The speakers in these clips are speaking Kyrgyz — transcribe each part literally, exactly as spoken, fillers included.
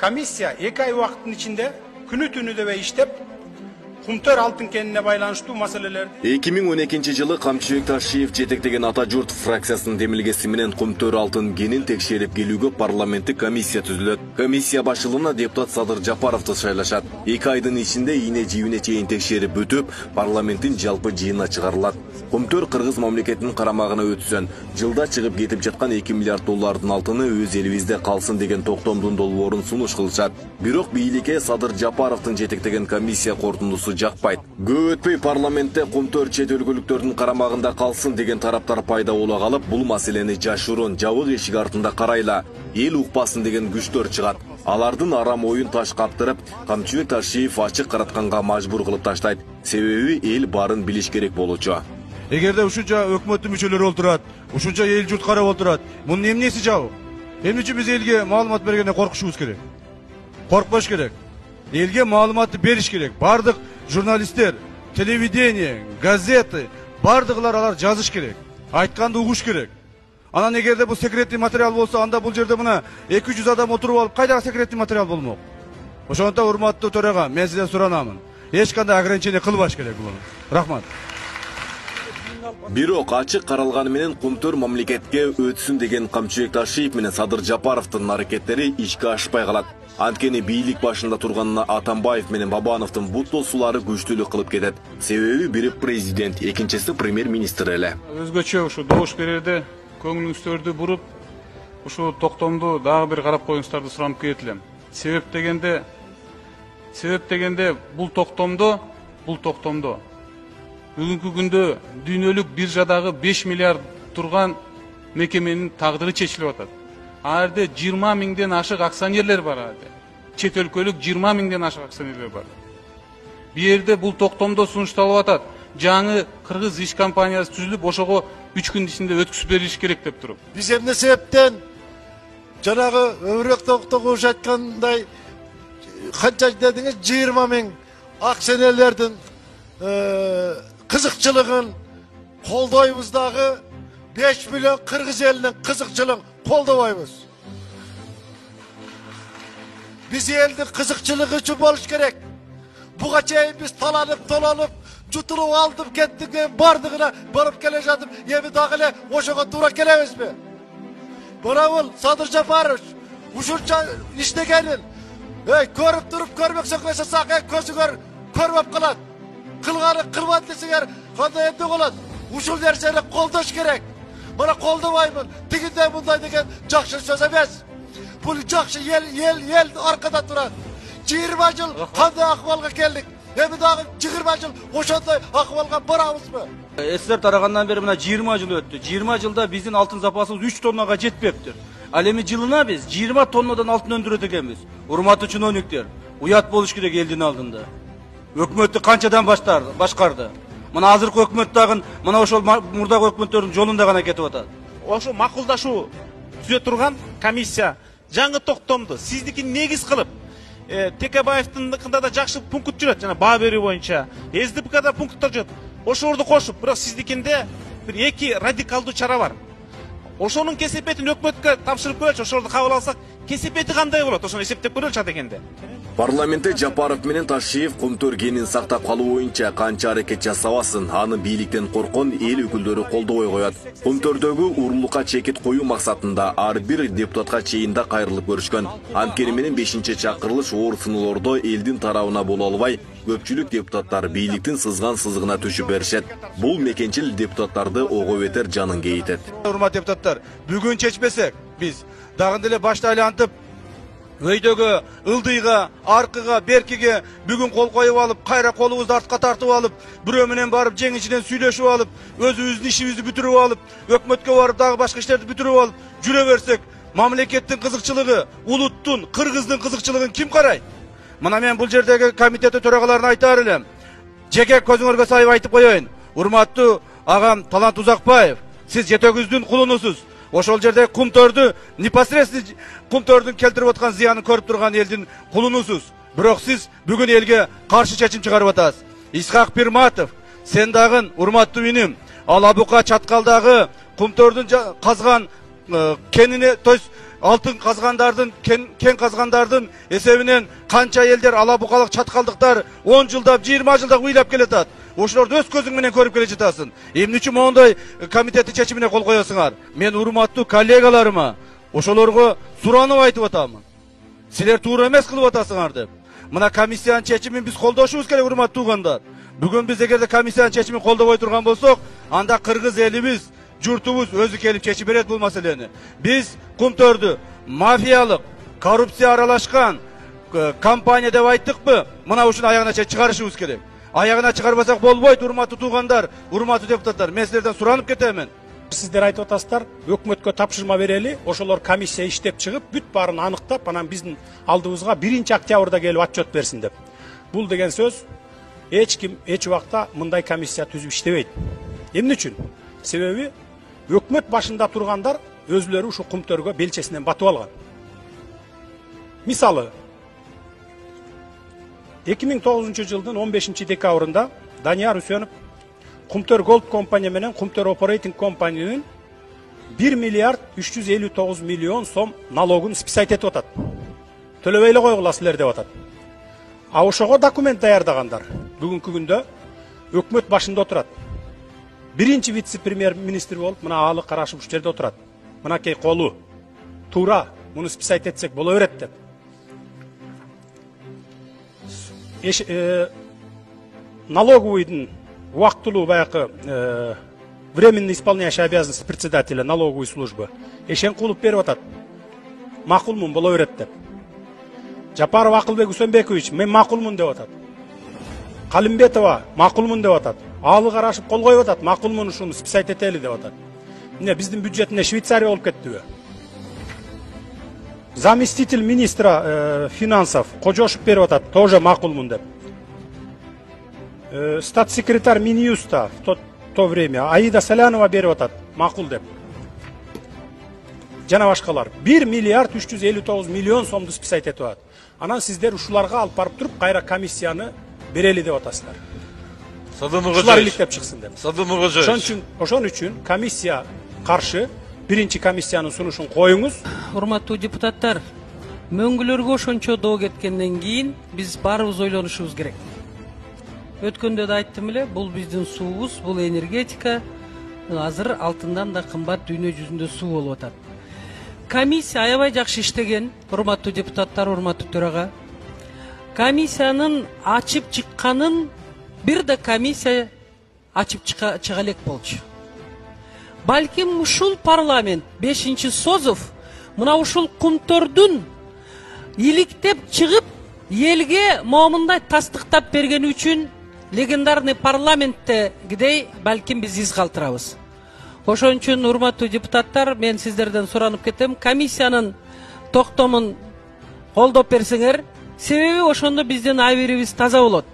комиссия эки ай убакыттын ичинде күнү түнү дебей иштеп, Кумтөр алтын кенине байланыштуу маселелерди. эки миң он экинчи жылы Камчыбек Ташиев жетектеген Ата журт фракциясынын демилгеси менен Кумтөр алтын кенин текшерип келүүгө парламенттик комиссия түзүлөт. Комиссия башчылыгына депутат Садыр Жапаровду шайлашат. эки айдын ичинде ийне жибине чейин текшерип бүтүп, парламенттин жалпы жыйынына чыгарылат. Кумтөр кыргыз мамлекетинин карамагына өтсөн, жылда чыгып кетип жаткан эки миллиард доллардын алтыны өз элибизде калсын деген токтомдун долбоорун сунуш кылышат. Бирок бийликке Садыр Жапаровдун жетектеген комиссия корутундусу жакпайт. Көп өтпөй парламентте Кумтөр чет өлкөлүктөрдүн карамагында калсын деген тараптар пайда боло калып, бул маселени жашыруун жабык эшик артында карайла, эл укпасын деген күчтөр чыгат. Алардын арам оюн таш каптырып, Камчыбек Ташиев ачык каратканга мажбур кылып таштайт. Себеби эл барын билиш керек болчу. Эгерде ушунча өкмөттүн мүчөлөрү олтурат, ушунча эл журт карап олтурат, мунун эмнеси жабык? Эмне үчүн биз элге маалымат бергенде коркушубуз керек? Коркпош керек. Элге маалыматты бериш керек. Бардык журналисттер, телевидение, газеты, бардыгылар алар жазыш керек. Айтканды угуш керек. Анан эгерде бул секретный материал болсо, анда бул жерде мына эки жүз адам отуруп алып, кайдагы секретный материал болмок? Ошондо урматтуу төрага, мен сизден суранамын. Эч кандай ограничение кылбаш керек бул. Рахмат. Бирок ачык каралганы менен Кумтөр мамлекетке өтсүн деген Камчыбек Ташиев менен Садыр Жапаровдун аракеттери ишке ашпай калат. Анткени бийлик башында турганына Атамбаев менен Бабановдун буттосулары күчтүүлүк кылып кетет. Себеби бири президент, экинчиси премьер-министр эле. Өзгөчө ушу добуш берерде көңүлүңүздөрдү буруп, ушу токтомду дагы бир карап коюңуздарды суранып келет элем. Себеп дегенде, себеп дегенде бул токтомдо, бул токтомдо бүгүнкү күндө дүйнөлүк биржадагы беш миллиард турган мекеменин тагдыры чечилип атат. А жерде жыйырма миңден ашык акционерлер бар ады. Чет өлкөлүк жыйырма миңден ашык акционерлер бар. Бу жерде бул токтомдо сунушталып атат. Жаңы кыргыз иш компаниясы түзүлүп, ошого үч күн ичинде өткүзүп берилиш керек деп туруп. Биз эмне себептен жанагы өмүрөк токтогуш айткандай канча дедиңиз жыйырма миң акционерлердин кызыкчылыгын колдойбуз дагы беш миллион кыргыз элинин кызыкчылыгын колдобойбуз. Биз элдин кызыкчылыгы үчүн болуш керек. Буга чейин биз таланып, толонуп, жутулуп алдып кеттик, бардыгына барып келе жатып, эми дагы эле ошого туура келебизби? Мына бул Садыр Жапарович ушунча иштегенин, эй, көрүп туруп көрмөксөк эсесак, көзү көр, көрбөп калат. Кылганы кылбат десеңер, кандай эмне болот? Ушул нерсени колдош керек. Мына колдобоймун, тигиндей мындай деген жакшы сөз эмес. Бул жакшы ел, ел, ел аркада турат. жыйырма жыл кандай акыбалга келдик? Эми дагы жыйырма жыл ошондой акыбалга барабызбы? СССР тарагандан бери мына жыйырма жыл өттү. жыйырма жылда биздин алтын запасыбыз үч тоннага жетпептир. Ал эми жылына биз жыйырма тоннадан алтын өндүрөт экенбиз. Урматтуу чиновниктер, уят болуш керек элдин алдында. Өкмөттү канчадан баштар, башкарды? Мына азыркы өкмөт дагы мына ошол мурдагы өкмөттөрдүн жолунда гана кетип атат. Ошо макулдашуу түзө турган комиссия жаңы токтомду сиздикин негиз кылып, Текебаевдинкында да жакшы пункт жүрөт, жана баа берүү боюнча, СДПКда пункттар жүрөт. Ошолорду кошуп, бирок сиздикинде бир эки радикалдуу чара бар. Ошонун кесепетин өкмөткө тапшырып көрөлчү, ошолорду кабыл алсак, кесепети кандай болот? Ошону эсептеп көрөлчү адегенде. Парламентте Жапаров менен Ташиев Кумтөр кенин сактап калуу боюнча канча аракет жасабасын, аны бийликтен коркон эл өкүлдөрү колдобой коет. Кумтөрдөгү урурлукка чекит коюу максатында ар бир депутатка чейинде кайрылып көрүшкөн. Анткени менен бешинчи чакырылыш оор сыноолордо элдин тарабына боло албай, көпчүлүк депутаттар бийликтин сызган сызыгына түшүп беришет. Бул мекенчил депутаттарды ого бетер жанын кейитет. Урматтуу депутаттар, бүгүн чечпесек, биз дагы деле башта айлантып өйдөгө, ылдыйга, аркыга, беркиге бүгүн кол коюп алып, кайра колубузду артка тартып алып, бирөө менен барып жеңичинен сүйлөшүп алып, өзүбүздүн ишибизди бүтүрүп алып, өкмөткө барып дагы башка иштерди бүтүрүп алып, жүрө берсек, мамлекеттин кызыкчылыгы, улуттун, кыргыздын кызыкчылыгын ким карайт? Мына мен бул жердеги комитет төрагаларына айтаар элем. Жеке көзүңөргө сайып айтып коеюн. Урматтуу агам Талант Узакбаев, сиз жетөгүздүн кулунусуз. Ошол жерде Кумтөрдү непосредственно Кумтөрдүн келтирип аткан зыянын көрүп турган элдин кулунусуз. Бирок сиз бүгүн элге каршы чечим чыгарып атасыз. Исхак Пирматов, сен дагы урматтуу иним, Алабука Чаткалдагы Кумтөрдүн казган кенине, то есть алтын казгандардын кен, кен казгандардын эсебинен канча элдер ала букалык чаткалдыктар он жылдап жыйырма жылдап ыйлап келатат. Ошолорду өз көзүң менен көрүп келе жатасың. Эмне үчүн моундай комитеттин чечимине кол коесуңар? Мен урматтуу коллегаларыма ошолорго суранып айтып атамын. Силер туура эмес кылып атасыңар деп. Мына комиссиянын чечимин биз колдошубуз керек, урматтуу туугандар. Бүгүн биз эгерде комиссиянын чечимин колдобой турган болсок, анда кыргыз элибиз, журтубуз өзү келип чечип берет бул маселени. Биз Кумтөрдү мафиялык, коррупция аралашкан компания деп айттыкпы? Мына ушуну аягына чейин чыгарышыбыз керек. Аягына чыгарбасак болбойт, урматтуу туугандар, урматтуу депутаттар. Мен силерден суранып кетемин. Сиздер айтып атасыздар, өкмөткө тапшырма берели, ошолор комиссия иштеп чыгып, бүт баарын аныктап, анан биздин алдыбызга биринчи октябрда келип отчет берсин деп. Бул деген сөз эч ким эч убакта мындай комиссия түзүп иштебейт. Эмне үчүн? Себеби өкмөт башында тургандар өзүлөрү ушу Кумтөргө белчесинен батып алган. Мисалы, эки миң тогузунчу жылдын он бешинчи декабрында Данияр Үсөнов Кумтөр Голд компания менен Кумтөр Operating компаниянын бир миллиард үч жүз элүү тогуз миллион сом налогун списать этип атат. Төлөбөй эле койгула силер деп атат. А ошого документ даярдагандар бүгүнкү күндө өкмөт башында отурат. Биринчи вице-премьер министр болуп, мына алы карашып ушул жерде отурат. Мынакей колу туура, муну списать этсек боло берет деп. Эш, э, налоговыйдын убактылуу баягы э, временно исполняющий обязанности председателя налоговой службы Эшенкулов берип атат. Макулмун, боло берет деп. Жапаров Акылбек Үсөнбекович, мен макулмун деп атат. Калимбетова макулмун деп атат. Алы карашып кол коюп атат, макулмун, ушуну списать этели деп атат. Эмне биздин бюджетине Швейцария болуп кеттиби? Заместитель министра э, финансов Кожошев берип атат, тоже макулмун деп. Э, статс-секретарь Минюста в то, то время Аида Салянова берип атат, макул деп. Жана башкалар бир миллиард үч жүз элүү тогуз миллион сомду списать этип атат. Анан сиздер ушуларга алып барып туруп кайра комиссияны берели деп атасыздар. Ушулар иликтеп чыксын деп. Ошон үчүн, ошон үчүн комиссия каршы, биринчи комиссиянын сунушун коюңуз. Урматтуу депутаттар, мөңгүлөргө ошончо доо кеткенден кийин биз баарыбыз ойлонушубуз керек. Өткөндө да айттым эле, бул биздин суубуз, бул энергетика, азыр алтындан да кымбат дүйнө жүзүндө суу болуп атат. Комиссия аябай жакшы иштеген, урматтуу депутаттар, урматтуу төрага. Комиссиянын ачып чыкканын бир да комиссия ачып чыга элек болчу. Балким ушул парламент бешинчи созов мына ушул Кумтөрдүн иликтеп чыгып элге момундай тастыктап бергени үчүн легендарный парламенттегидей балким биз из калтырабыз. Ошон үчүн урматтуу депутаттар, мен сиздерден суранып кетем, комиссиянын токтомун колдоп берсеңер, себеби ошондо биздин абийирибиз таза болот.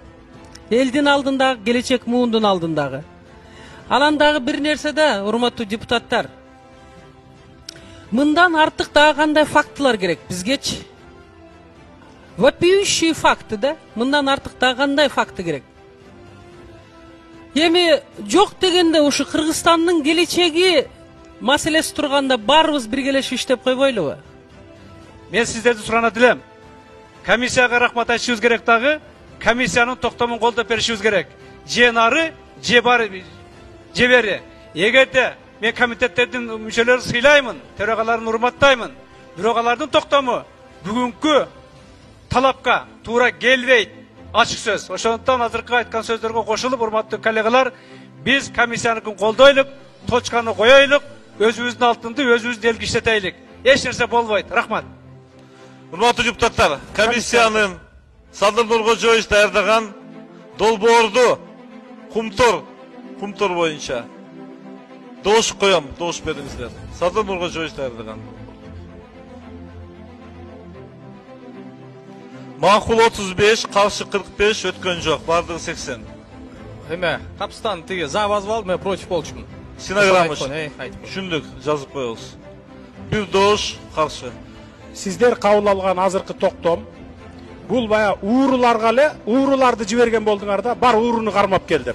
Элдин алдындагы, келечек муундун алдындагы. Анан дагы бир нерсе да, урматтуу депутаттар. Мындан артык дагы кандай фактылар керек бизгечи? Вопиющие факты да, мындан артык дагы кандай факты керек? Эми жок дегенде ушу Кыргызстандын келечеги маселеси турганда баарыбыз биргелешип иштеп койбойлубу? Мен сиздерди суранат элем. Комиссияга рахмат айтышыбыз керек дагы, комиссиянын токтомун колдоп беришибиз керек. Же нары, же бары, же бери. Эгерде мен комитеттердин мүчөлөрүн сыйлаймын, төрагаларын урматтаймын, бирок алардын токтому бүгүнкү талапка туура келбейт. Ачык сөз. Ошондуктан азыркы айткан сөздөргө кошулуп, урматтуу коллегалар, биз комиссияныкын колдойлук, точканы коёйлук, өзүбүздүн алтынды өзүбүз элге иштетейлик. Эч нерсе болбойт. Рахмат. Урматтуу депутаттар, комиссиянын Садыр Нуркожоевич даярдаган долбоорду Кумтөр, Кумтөр боюнча доош коем, доош бериңиздер. Садыр Нуркожоевич даярдаган. Макул отуз беш, каршы кырк беш, өткөн жок, бардыгы сексен. Эме, капстан тиги забазып алып, мен против болчумун. Синаграммыш. Түшүндүк, жазып коебуз. Бир доош каршы. Сиздер кабыл алган азыркы токтом бул бая ууруларга эле, ууруларды жиберген болдуңар да, бар ууруну кармап келдим.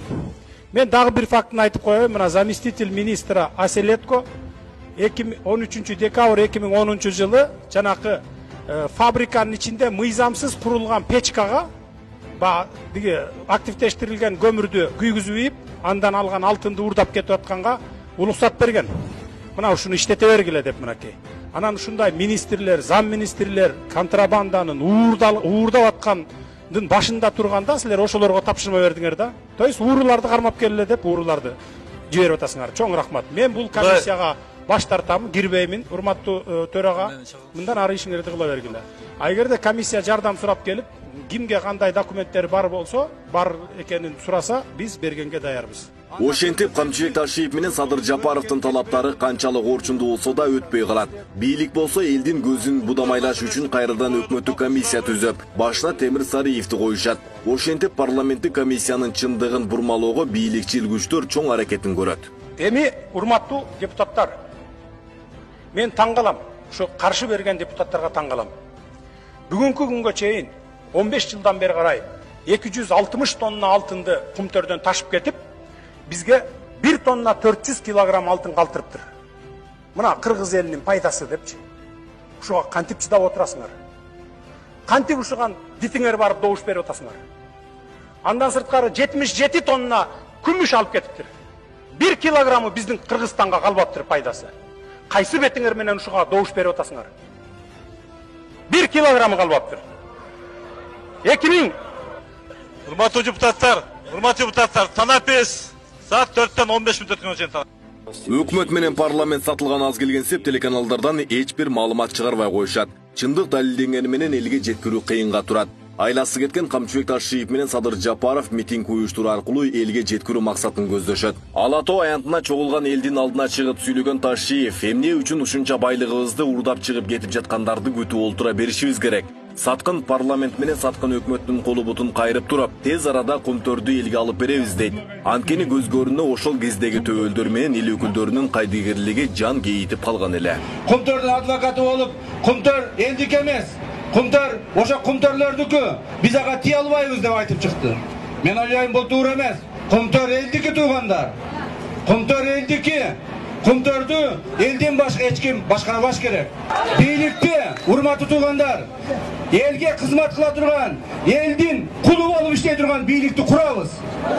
Мен дагы бир фактын айтып коеюн, мына заместитель министра Аселетко он үчүнчү декабрь эки миң онунчу жылы жанакы фабриканын ичинде мыйзамсыз курулган печкага биги активдештирилген көмүрдү күйгүзүп ийип, андан алган алтынды уурдап кетип атканга уруксат берген. Мына ушуну иштете бергиле деп мынакей. Анан ушундай министрлер, зам министрлер контрабанданын уурдап аткандын башында турганда силер ошолорго тапшырма бердиңер да. То есть ууруларды кармап келеле деп ууруларды жиберип атасыңар. Чоң рахмат. Мен бул комиссияга баш тартам, кирбеймин. Урматтуу төрага, мындан ары ишиңерди кыла бергиле. А эгерде комиссия жардам сурап келип, кимге кандай документтер бар болсо, бар экенин сураса, биз бергенге даярбыз. Ошентип Камчыбек Ташиев менен Садыр Жапаровдун талаптары канчалык орчундуу болсо да өтпөй калат. Бийлик болсо элдин көзүн будамайлаш үчүн кайрадан өкмөттүк комиссия түзөп, башына Темир Сариевди коюшат. Ошентип парламенттик комиссиянын чындыгын бурмалоого бийликчил күчтөр чоң аракетин көрөт. Эми урматтуу депутаттар, мен таң калам, ушу каршы берген депутаттарга таң калам. Бүгүнкү күнгө чейин он беш жылдан бери карай эки жүз алтымыш тонна алтынды кумтөрдөн ташып кетип, бизге бир тонна төрт жүз килограмм алтын калтырыптыр. Мына кыргыз элинин пайдасы депчи. Ушуга кантип чыдап отурасыңар? Кантип ушуган дитиңер барып добуш берип атасыңар? Андан сырткары жетимиш жети тонна күмүш алып кетиптир. бир килограммы биздин Кыргызстанга калбаптыр пайдасы. Кайсы бетиңер менен ушуга добуш берип атасыңар? бир килограммы калбаптыр. эки миң Урматтуу депутаттар, урматтуу депутаттар, танапес саат төрттөн он беш мүнөт өткөн чейин. Өкмөт менен парламент сатылган аз келген сеп телеканалдардан эч бир маалымат чыгарбай коюшат. Чындык далилденгени менен элге жеткирүү кыйынга турат. Айласы кеткен Камчыбек Ташиев менен Садыр Жапаров митинг уюштуруу аркылуу элге жеткирүү максатын көздөшөт. Ала Тоо аянтына чогулган элдин алдына чыгып сүйлөгөн Ташиев, эмне үчүн ушунча байлыгыбызды уурдап чыгып кетип жаткандарды күтүп олтура беришибиз керек. Саткын парламент менен саткын өкмөттүн колу бутун кайрып туруп, тез арада кумтөрдү элге алып беребиз дейт. Анткени көз көрүнө ошол кездеги төбөлдөр менен эл өкүлдөрүнүн кайдыгерлиги жан кейитип калган эле. Кумтөрдүн адвокаты болуп, кумтөр элдик эмес. Кумтөр ошо кумтөрлөрдүкү, биз ага тие албайбыз деп айтып чыкты. Мен ойлойм бул туура эмес. Кумтөр элдики туугандар. Кумтөр элдики. Кумтөрдү элден башка эч ким башкарбаш керек. Бийликти, урматтуу туугандар, элге кызмат кыла турган, элдин кулу болуп иштей турган бийликти курабыз.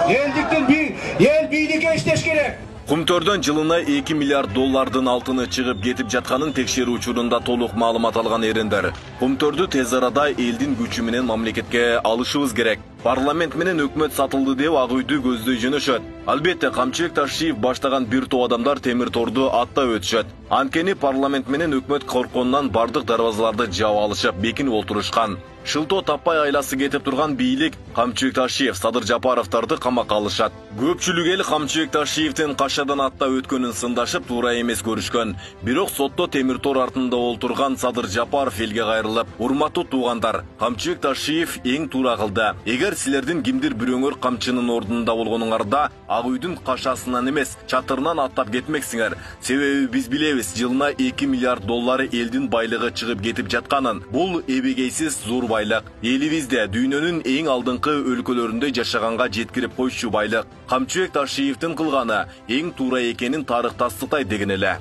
Элдиктин эл бийликке иштеш керек. Кумтөрдөн жылына эки миллиард доллардын алтыны чыгып кетип жатканын текшерүү учурунда толук маалымат алган эрендер. Кумтөрдү тез арада элдин күчү менен мамлекетке алышыбыз керек. Парламент менен өкмөт сатылды деп ак үйдү көздөй жөнөшөт. Албетте Камчыбек Ташиев баштаган бир топ адамдар темир торду аттап өтүшөт. Анткени парламент менен өкмөт коркконунан бардык дарбазаларды жаап алышып, бекинип отурушкан. Шылтоо таппай айласы кетип турган бийлик Камчыбек Ташиев, Садыр Жапаровдарды камакка алышат. Көпчүлүк эл Камчыбек Ташиевдин кашадан аттап өткөнүн сындашып, туура эмес көрүшкөн. Бирок сотто темир тор артында олтурган Садыр Жапаров элге кайрылып, урматтуу туугандар, Камчыбек Ташиев эң туура кылды. Эгер силердин кимдир бирөөңөр камчынын ордунда болгонуңарда ак үйдүн кашасынан эмес, чатырынан аттап кетмексиңер. Себеби биз билебиз, жылына эки миллиард доллар элдин байлыгы чыгып кетип жатканын. Бул эбегейсиз зор байлык. Элибизде дүйнөнүн эң алдыңкы өлкөлөрүндө жашаганга жеткирип койчу байлык. Камчыбек Ташиевдин кылганы эң туура экенин тарых тастыктайт деген эле.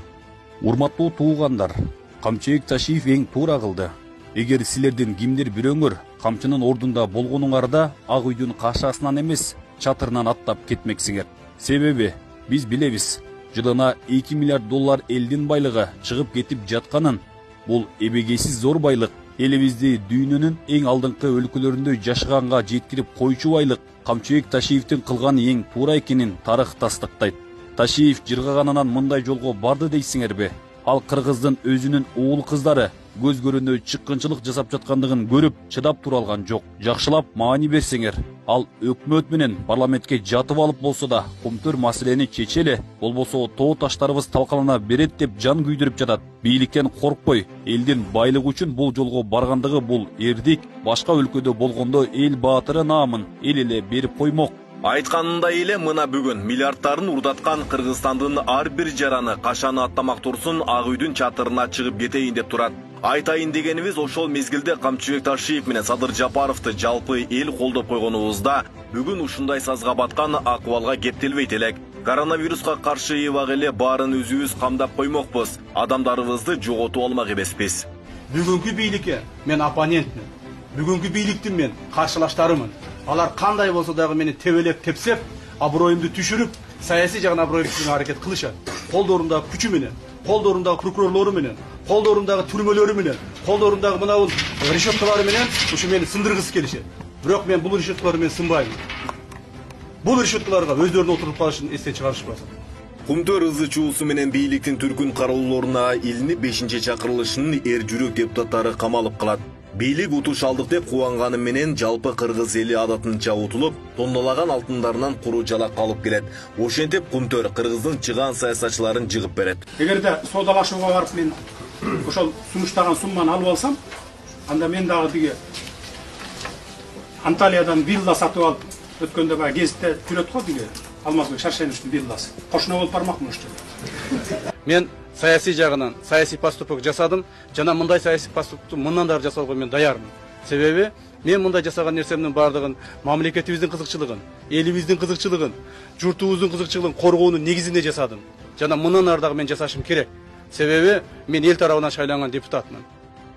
Урматтуу туугандар, Камчыбек Ташиев эң туура кылды. Эгер силердин кимдир бирөөңөр камчынын ордунда болгонуңарда ак үйдүн кашасынан эмес, чатырынан аттап кетмексиңер. Себеби биз билебиз, жылына эки миллиард доллар элдин байлыгы чыгып кетип жатканын. Бул эбегейсиз зор байлык. Элибизди дүйнөнүн эң алдыңкы өлкөлөрүндө жашаганга жеткирип койчу байлык. Камчыбек Ташиевдин кылганы эң туура экенин тарых тастыктайт. Ташиев жыргаганынан мындай жолго барды дейсиңерби? Ал кыргыздын өзүнүн уул кыздары көз көрүнө чыккынчылык жасап жаткандыгын көрүп чыдап тура алган жок. Жакшылап маани берсеңер, ал өкмөт менен парламентке жатып алып болсо да кумтөр маселени чечеле, болбосо тоо таштарыбыз талкалана берет деп жан күйдүрүп жатат. Бийликтен коркпой, элдин байлыгы үчүн бул жолго баргандыгы бул эрдик, башка өлкөдө болгондо эл баатыры наамын эл эле берип коймок. Айтканындай эле мына бүгүн миллиардтарын урдаткан Кыргызстандын ар бир жараны кашаны аттамак турсун ак үйдүн чатырына чыгып кетейин деп турат. Айтайын дегенибиз ошол мезгилде Камчыбек Ташиев менен Садыр Жапаровду жалпы эл колдоп койгонубузда бүгүн ушундай сазга баткан акыбалга кептелбейт элек. Коронавируска каршы эбак эле баарын өзүбүз камдап коймокпуз. Адамдарыбызды жоготуп алмак эмеспиз. Бүгүнкү бийликке мен оппонентмин. Бүгүнкү бийликтин мен каршылаштарымын. Алар кандай болсо дагы мени тебелеп тепсеп, аброюмду түшүрүп, саясий жагынан аброюмду түшүрүүгө аракет кылышат. Колдорундагы күчү менен, колдорундагы прокурорлору менен, колдорундагы түрмөлөрү менен, колдорундагы мынабул решеткалары менен ушу мени сындыргысы келишет. Бирок мен бул решеткалар менен сынбайм. Бул решеткаларга өздөрүнүн отуруп калышын эстен чыгарышпасын. Кумтөр ызы чуусу менен бийликтин түркүн кароолоруна илинип бешинчи чакырылышынын эр жүрөк депутаттары камалып калат. Бийлик утуш алдык деп кубанганы менен жалпы кыргыз эли адатынча утулуп, тоннолаган алтындарынан куру жалак калып келет. Ошентип Кумтөр кыргыздын чыгаан саясатчыларын жыгып берет. Эгерде соодалашууга барып мен ошол сунуштаган сумманы алып алсам, анда мен дагы биге Анталиядан вилла сатып алып, өткөндө баягы гезитте жүрөт го биге Алмазбек Шаршеновичтин вилласы. Кошуна болуп бармакмын ошто. Мен саясий жагынан саясий поступок жасадым. Жана мындай саясий поступокту мындан да жасоого мен даярмын. Себеби мен мындай жасаган нерсемдин бардыгын мамлекетибиздин кызыкчылыгын, элибиздин кызыкчылыгын, журтубуздун кызыкчылыгын коргоонун негизинде жасадым. Жана мындан ары дагы мен жасашым керек. Себеби мен эл тарабынан шайланган депутатмын.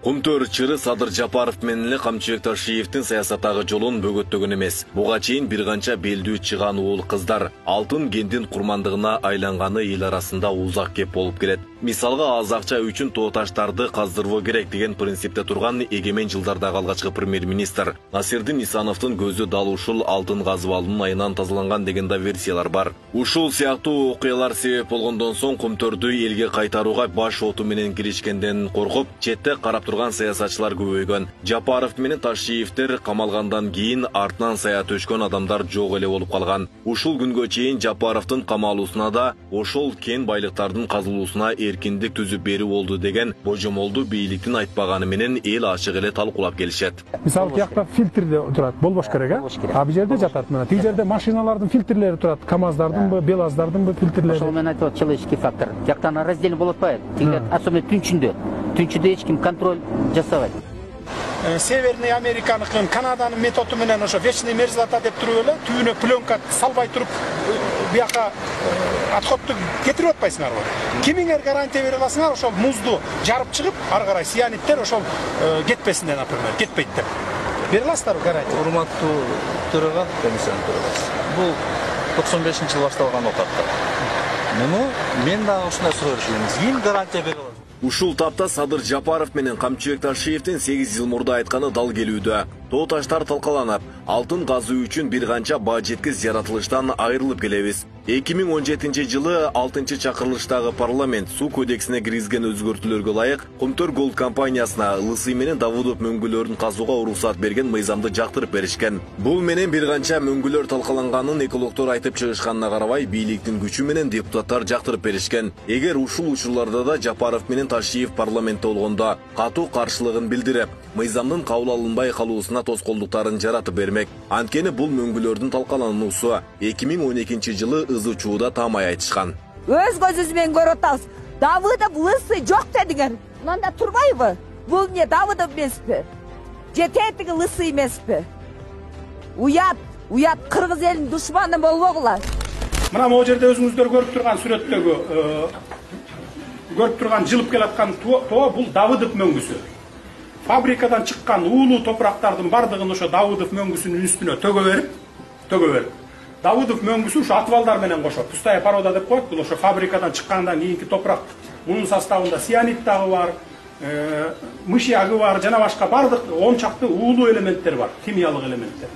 Кумтөр чыры Садыр Жапаров менен эле Камчыбек Ташиевдин саясаттагы жолун бөгөттөгөн эмес. Буга чейин бир канча белдүү чыган уул кыздар алтын кендин курмандыгына айланганы эл арасында узак кеп болуп келет. Мисалга аз акча үчүн тоо таштарды каздырбоо керек деген принципте турган эгемен жылдардагы алгачкы премьер-министр Насирдин Исановдун көзү дал ушул алтын казып алуунун айынан тазаланган деген да версиялар бар. Ушул сыяктуу окуялар себеп болгондон соң Кумтөрдү элге кайтарууга баш оту менен киришкенден коркуп, четте карап турган саясатчылар көбөйгөн. Жапаров менен Ташиевдер камалгандан кийин артынан сая төшкөн адамдар жок эле болуп калган. Ушул күнгө чейин Жапаровдун камалуусуна да ошол кен байлыктардын казылуусуна эркиндик түзүп берүү болду деген божомолду бийликтин айтпаганы менен эл ачык эле талкуулап келишет. Мисалы тиякта фильтрде турат, болбош керек, а? А бу жерде жатат мына. Тиги жерде машиналардын фильтрлери турат, КамАЗдардынбы, БелАЗдардынбы фильтрлери. Ошол мен айтып человеческий фактор. Тияктан раздельно болуп атпайбы? Тиги особенно түнчүндө. Түнчүдө эч ким контроль жасабайт. Северный Американыкын, Канаданын методу менен ошо вечный мерзлота деп туруп эле түбүнө пленка салбай туруп бияка отходду кетирип атпайсыңарбы? Кимиңер гарантия бере аласыңар ошол музду жарып чыгып, ары карай сианиттер ошол кетпесин деп, например, кетпейт деп. Бере аласыздарбы гарантия? Урматтуу төрага, комиссиянын төрагасы. Бул токсон бешинчи жылы башталган окуп. Муну мен дагы ушундай суроо беришимиз. Ким гарантия бере алат? Ушул тапта Садыр Жапаров менен Камчыбек Ташиевдин сегиз жыл мурда айтканы дал келүүдө. Тоо таштар талкаланып, алтын казуу үчүн бир канча баа жеткиз жаратылыштан айрылып келебиз. эки миң он жетинчи жылы алтынчы чакырылыштагы парламент суу кодексине киргизген өзгөртүүлөргө ылайык Кумтөр Голд компаниясына Лысый менен Давудов мөңгүлөрүн казууга уруксат берген мыйзамды жактырып беришкен. Бул менен бир канча мөңгүлөр талкаланганын экологдор айтып чыгышканына карабай, бийликтин күчү менен депутаттар жактырып беришкен. Эгер ушул учурларда да Жапаров менен Ташиев парламентте болгондо катуу каршылыгын билдирип, мыйзамдын кабыл алынбай калуусуна тоскоолдуктарын жаратып бермек. Анткени бул мөңгүлөрдүн талкалануусу эки миң он экинчи жылы ызы чууда таамай айтышкан. Өз көзүбүз менен көрүп атабыз. Давыдов Лысый жок дедиңер. Мында турбайбы? Бул эмне Давыдов эмеспи? Же тетиги Лысый эмеспи? Уят, уят кыргыз элинин душманы болбогула. Мына могу жерде өзүңүздөр көрүп турган сүрөттөгү көрүп турган жылып келаткан тоо бул Давыдов мөңгүсү. Фабрикадан чыккан уулуу топурактардын бардыгын ошо Давыдов мөңгүсүнүн үстүнө төгө берип, төгө берип. Давыдов мөңгүсү ошо отвалдар менен кошо, пустая порода деп коет, бул ошо фабрикадан чыккандан кийинки топурак. Мунун составында цианид дагы бар, мышьягы бар, жана башка бардык он чакты уулуу элементтер бар, химиялык элементтер.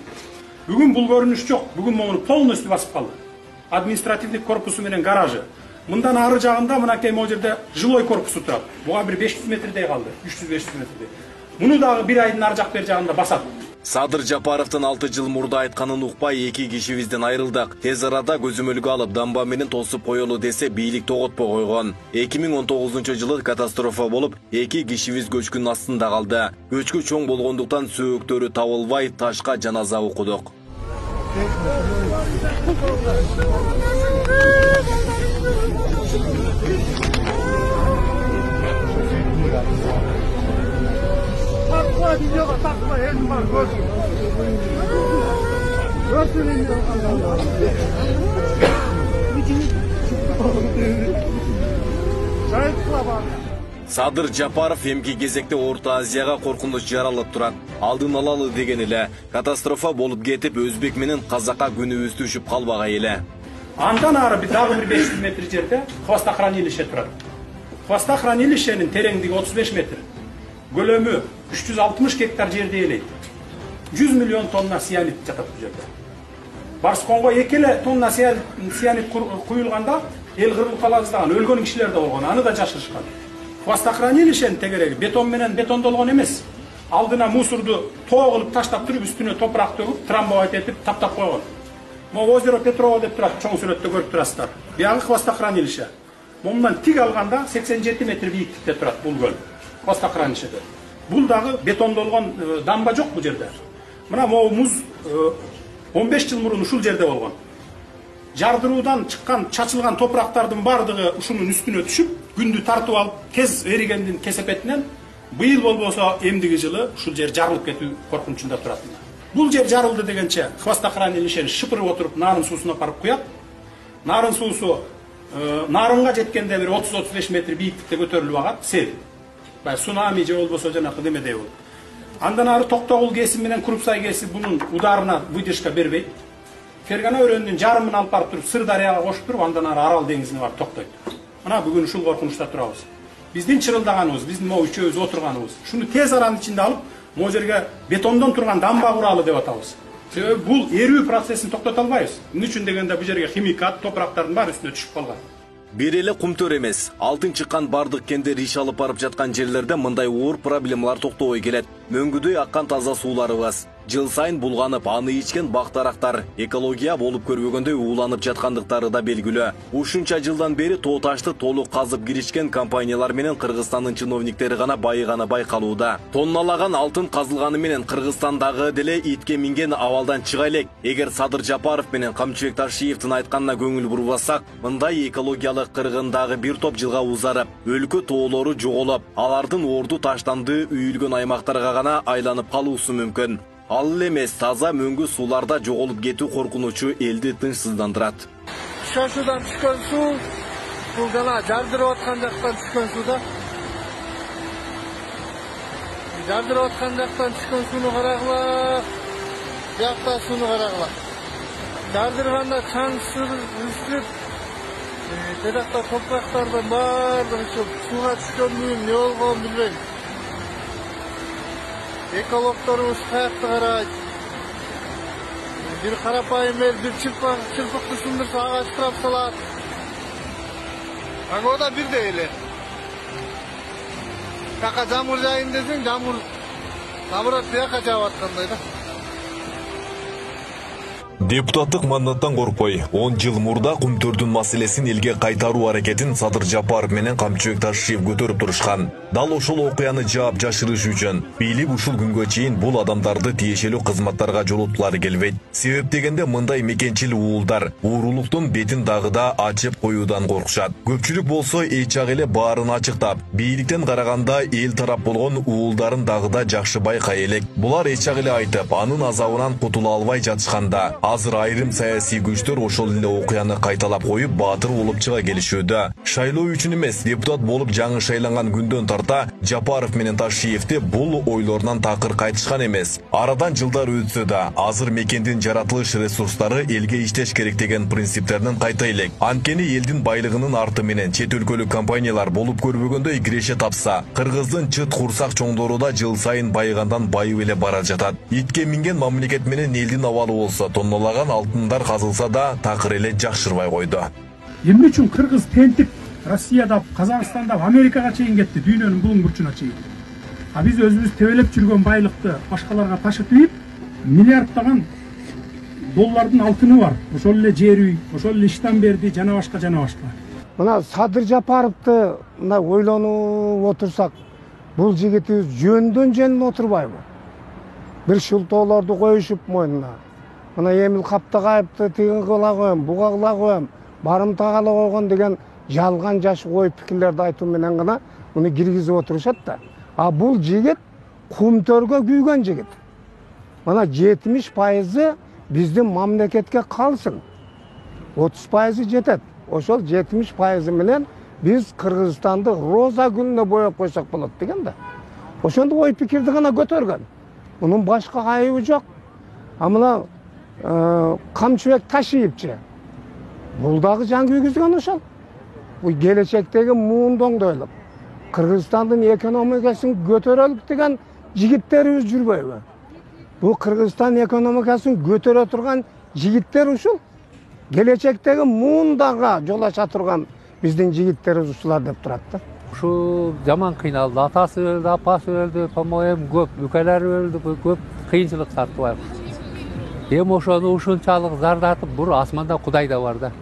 Бүгүн бул көрүнүш жок, бүгүн муну полностью басып калды. Административдик корпусу менен гаражы. Мындан ары жагында мынакей могу жерде жилой корпусу турат. Буга бир беш жүз метрдей калды, үч жүз беш жүз метрдей. Муну дагы бир айдын ары жак бер жагында басат. Садыр Жапаровдун алты жыл мурда айтканын укпай эки кишибизден айрылдык. Тез арада көзөмөлгө алып дамба менен тосуп коелу десе бийлик тоготпой койгон. эки миң он тогузунчу жылы катастрофа болуп, эки кишибиз көчкүн астында калды. Көчкү чоң болгондуктан сөөктөрү табылбай ташка жаназа окудук. Videoga takma, elim var, görsün. Görsün elimde. Садыр Жапаров эмки кезекте Орто Азияга коркунуч жаралып турат. Алдын алалы деген эле катастрофа болуп кетип, өзбек менен казакка күнүбүз түшүп калбагай эле. Андан ары дагы бир беш жүз метр жерде хвостохранилище турат. Хвостохранилищенин тереңдиги отуз беш метр. Көлөмү үч жүз алтымыш гектар жерди ээлейт. жүз миллион тонна сианид жатат бул жерде. Барсконго эки эле тонна сианид куюлганда эл кырылып калабыздаган, өлгөн кишилер да болгон, аны да жашырышкан. Хвостохранилищенин тегереги бетон менен бетондолгон эмес. Алдына мусорду тоо кылып таштап туруп, үстүнө топурак төгүп, трамбовать этип таптап койгон. Могу озеро Петрово деп турат, чоң сүрөттө көрүп турасыздар. Биягы хвостохранилище. Момундан тик алганда сексен жети метр бийиктикте турат бул көл. Хвостохранилищеде. Бул дагы бетондолгон дамба жок бул жерде. Мына могу муз он беш жыл мурун ушул жерде болгон. Жардыруудан чыккан, чачылган топурактардын бардыгы ушунун үстүнө түшүп, күндү тартып алып, тез эригендин кесепетинен быйыл болбосо эмдиги жылы ушул жер жарылып кетүү коркунучунда турат. Бул жер жарылды дегенче хвостохранилищени шыпырып отуруп нарын суусуна апарып куят. Нарын суусу нарынга жеткенде бир отуз отуз беш метр бийиктикте көтөрүлүп агат, сел. Бай цунами же болбосо жанакы демедей болот. Андан ары Токтогул кесип менен Крупсай кесип бунун ударына выдержка бербейт. Фергана өрөөнүнүн жарымын алып барып туруп Сырдарыяга кошуп туруп, андан ары Арал деңизине барып токтойт. Мына бүгүн ушул коркунучта турабыз. Биздин чырылдаганыбыз, биздин могу үчөөбүз отурганыбыз, шуну тез аранын ичинде алып, могу жерге бетондон турган дамба куралы деп атабыз. Себеби бул эрүү процессин токтото албайбыз. Эмне үчүн дегенде бул жерге химикат, топурактардын баары үстүнө түшүп калган. Бир эле кумтөр эмес, алтын чыккан бардык кендер иш алып барып жаткан жерлерде мындай оор проблемалар токтобой келет. Мөңгүдөй аккан таза сууларыбыз, жыл сайын булганып, аны ичкен бактарактар экология болуп көрбөгөндөй ууланып жаткандыктары да белгилүү. Ушунча жылдан бери тоо ташты толук казып киришкен компаниялар менен Кыргызстандын чиновниктери гана байыганы байкалууда. Тонналаган алтын казылганы менен Кыргызстандагы деле итке минген абалдан чыга элек. Эгер Садыр Жапаров менен Камчыбек Ташиевдин айтканына көңүл бурбасак, мындай экологиялык кыргындагы бир топ жылга узарып, өлкө тоолору жоголуп, алардын орду таштанды үйүлгөн аймактарга гана айланып калуусу мүмкүн. Ал эмес таза мөңгү сууларда жоголуп кетүү коркунучу элди тынчсыздандырат. Шашудан түшкөн суу, бул жана жардырып аткан жактан түшкөн суу да. Жардырып аткан жактан түшкөн сууну карагыла, биякта сууну карагыла. Жардырганда чаң үстүп, жакта топурактардын баардыгы сууга түшкөнү эмне болгонун билбейм. Экологторубуз каякта карайт. Бир карапайым эл бир чырпыкты сындырса агач кырап салат. Ага да бирдей эле. Жака жамыр жайын десең, жамыр наоборот бияка жаап аткандай да. Депутаттык мандаттан коркпой, он жыл мурда кумтөрдүн маселесин элге кайтаруу аракетин Садыр Жапаров менен Камчыбек Ташиев көтөрүп турушкан. Дал ошол окуяны жаап жашырыш үчүн бийлик ушул күнгө чейин бул адамдарды тиешелүү кызматтарга жолоткулары келбейт. Себеп дегенде мындай мекенчил уулдар уурулуктун бетин дагы да ачып коюудан коркушат. Көпчүлүк болсо эч жак эле баарын ачыктап, бийликтен караганда эл тарап болгон уулдарын дагы да жакшы байкай элек. Булар эч жак эле айтып, анын азабынан кутула албай жатышканда, азыр айрым саясий күчтөр ошол эле окуяны кайталап коюп баатыр болуп чыга келишүүдө. Шайлоо үчүн эмес, депутат болуп жаңы шайланган күндөн тарта Жапаров менен Ташиевди бул ойлорунан такыр кайтышкан эмес. Арадан жылдар өтсө да, азыр мекендин жаратылыш ресурстары элге иштеш керек деген принциптерден кайта элек. Анткени элдин байлыгынын арты менен чет өлкөлүк компаниялар болуп көрбөгөндөй киреше тапса, Кыргыздын чыт курсак чоңдору да жыл сайын байыгандан байып эле бара жатат. Итке минген мамлекет менен элдин абалы болсо, тоннолаган алтындар казылса да такыр эле жакшырбай койду. Эмне үчүн Кыргыз тентип Россияда, Казакстанда, Америкага чейин кетти, дүйнөнүн булуң бурчуна чейин. А биз өзүбүз тебелеп жүргөн байлыкты башкаларга ташып ийип, миллиарддаган доллардын алтыны бар. Ошол эле жер үй, ошол эле иштен берди, жана башка жана башка. Мына Садыр Жапаровду мына ойлонуп отурсак, бул жигитибиз жөндөн жөнүн отурбайбы? Бир шултоолорду коюшуп мойнуна. Мына Эмил Каптагайевди тиги кыла коем, буга кыла коем, барымтагала койгон деген жалган жаш ой пикирлерди айтуу менен гана муну киргизип отурушат да. А бул жигит кумтөргө күйгөн жигит. Мына жетимиш пайызы биздин мамлекетке калсын. отуз пайызы жетет. ошол жетимиш пайызы менен биз Кыргызстанды роза гүлүнө боеп койсок болот деген да. Ошондой ой пикирди гана көтөргөн. Мунун башка айыбы жок. А мына Камчыбек Ташиевчи бул дагы жан күйгүзгөн ошол. Бул келечектеги муунду ойлоп, Кыргызстандын экономикасын көтөрөлүк деген жигиттерибиз жүрбөйбү? Бул Кыргызстан экономикасын көтөрө турган жигиттер ушул. Келечектеги муундага жол ача турган биздин жигиттерибиз ушулар деп турат да. Ушу жаман кыйналды. Атасы өлдү, апасы өлдү, по-моему, көп, бүкөлөр өлдү, көп кыйынчылык тартып. Эми ошону ушунчалык зардатып, бур асманда Кудай да бар да.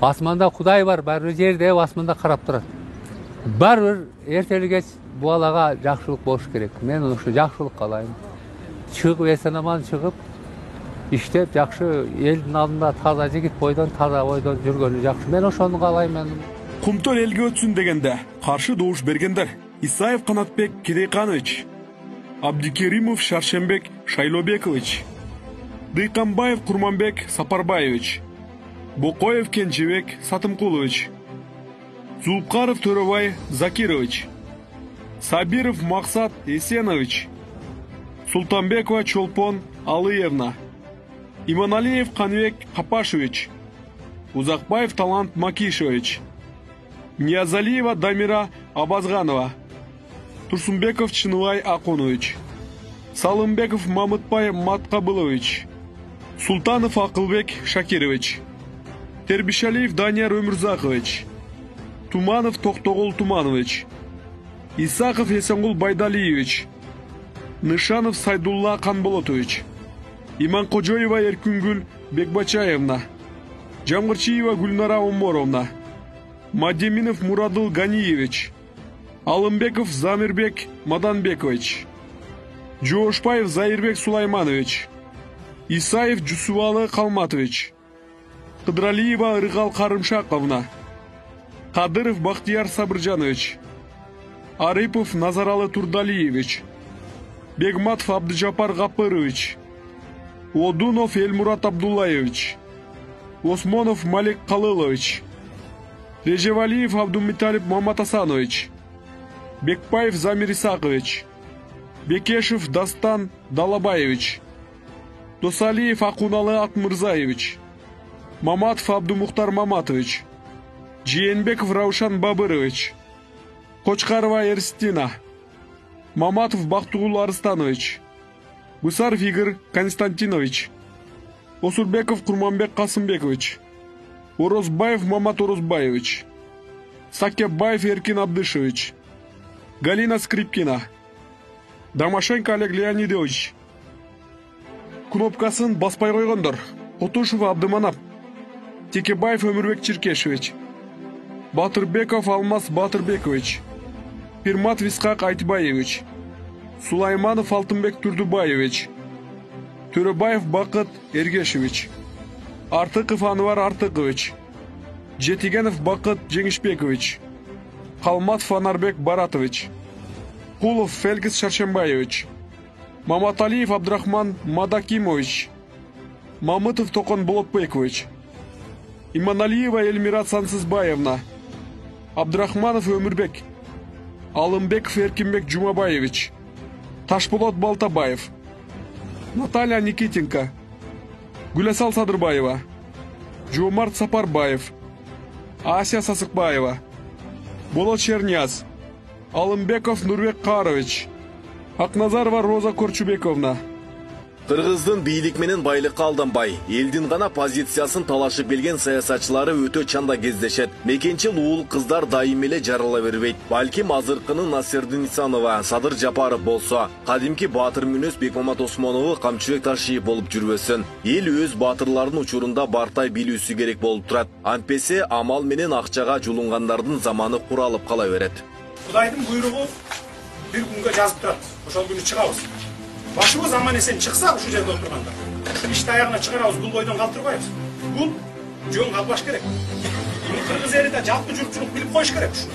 Асманда Кудай бар, баары жерде асманда карап турат. Баары эртели кеч бул балага жакшылык болуш керек. Мен ушу жакшылык каалайм. Чыгып эсен-аман чыгып, иштеп жакшы элдин алдында таза жигит бойдон, таза бойдон жүргөнү жакшы. Мен ошону каалайм. Мен Кумтөр элге өтсүн дегенде каршы добуш бергендер: Исаев Канатбек Кедейканович, Абдикеримов Шаршембек Шайлобекович, Дыйканбаев Курманбек Сапарбаевич, Бокоев Кенжебек Сатымкулович, Зулпкаров Төрөбай Закирович, Сабиров Максат Эсенович, Султанбекова Чолпон Алыевна, Иманалиев Канбек Капашевич, Узакбаев Талант Макишевич, Ниязалиева Дамира Абазганова, Турсунбеков Чыныбай Акунович, Салымбеков Мамытбай Маткабылович, Султанов Акылбек Шакирович, Тербишалиев Данияр Өмүрзакович, Туманов Токтогул Туманович, Исаков Эсенгул Байдалиевич, Нышанов Сайдулла Канболотович, Иманкожоева Эркүнгүл Бекбачаевна, Жамгырчиева Гүлнара Оморовна, Мадеминов Мурадыл Ганиевич, Алымбеков Замирбек Маданбекович, Жоошбаев Заирбек Сулайманович, Исаев Жусувалы Калматович, Кыдралиева Ыргал Карымшаковна, Кадыров Бахтияр Сабыржанович, Арипов Назаралы Турдалиевич, Бегматов Абдыжапар Гапырович, Одунов Эльмурат Абдуллаевич, Осмонов Малик Калылович, Режевалиев Абдумиталип Маматасанович, Бекпаев Замир Исакович, Бекешев Дастан Далабаевич, Досалиев Акуналы Акмырзаевич, Маматов Абдумухтар Маматович, Жиенбеков Раушан Бабырович, Кочкарова Эрстина, Маматов Бактугул Арыстанович, Гусаров Игорь Константинович, Осурбеков Курманбек Касымбекович, Орозбаев Мамат Орозбаевич, Сакебаев Эркин Абдышевич, Галина Скрипкина, Домашенко Олег Леонидович. Кнопкасын баспай койгондор: Кутушев Абдыманап, Текебаев Өмүрбек Черкешевич, Батырбеков Алмаз Батырбекович, Пирматов Исхак Айтбаевич, Сулайманов Алтынбек Турдубаевич, Төрөбаев Бакыт Эргешевич, Артыков Анвар Артыкович, Жетигенов Бакыт Жеңишбекович, Калматов Анарбек Баратович, Кулов Фелгис Шаршембаевич, Маматалиев Абдрахман Мадакимович, Мамытов Токон Болотбекович, Иманалиева Эльмира Сансызбаевна, Абдрахманов Өмүрбек, Алымбеков Эркинбек Жумабаевич, Ташболот Балтабаев, Наталья Никитенко, Гүлесал Садырбаева, Жомарт Сапарбаев, Ася Сасыкбаева, Болот Черняз, Алымбеков Нурбек Карович, Акназарова Роза Корчубековна. Кыргыздын бийлик менен байлыкка алданбай, элдин гана позициясын талашып келген саясатчылары өтө чанда кездешет. Мекенчил уул кыздар дайым эле жарыла бербейт. Балким азыркынын Насырдын Исанова, Садыр Жапаров болсо, кадимки баатыр мүнөз Бекмамат Осмонову Камчыбек Ташиев болуп жүрбөсүн. Эл өз баатырларынын учурунда бартай билүүсү керек болуп турат. Антпесе амал менен акчага жулунгандардын заманы куралып кала берет. Кудайдын буйругу бир күнгө жазып турат. Ошол күнү чыгабыз. Башыбыз аман эсен чыкса ушу жерде отурганда, ишти аягына чыгарабыз, бул бойдон калтырбайбыз. Бул жөн калбаш керек. Кыргыз эли да жалпы журтчулук билип коюш керек ушуну.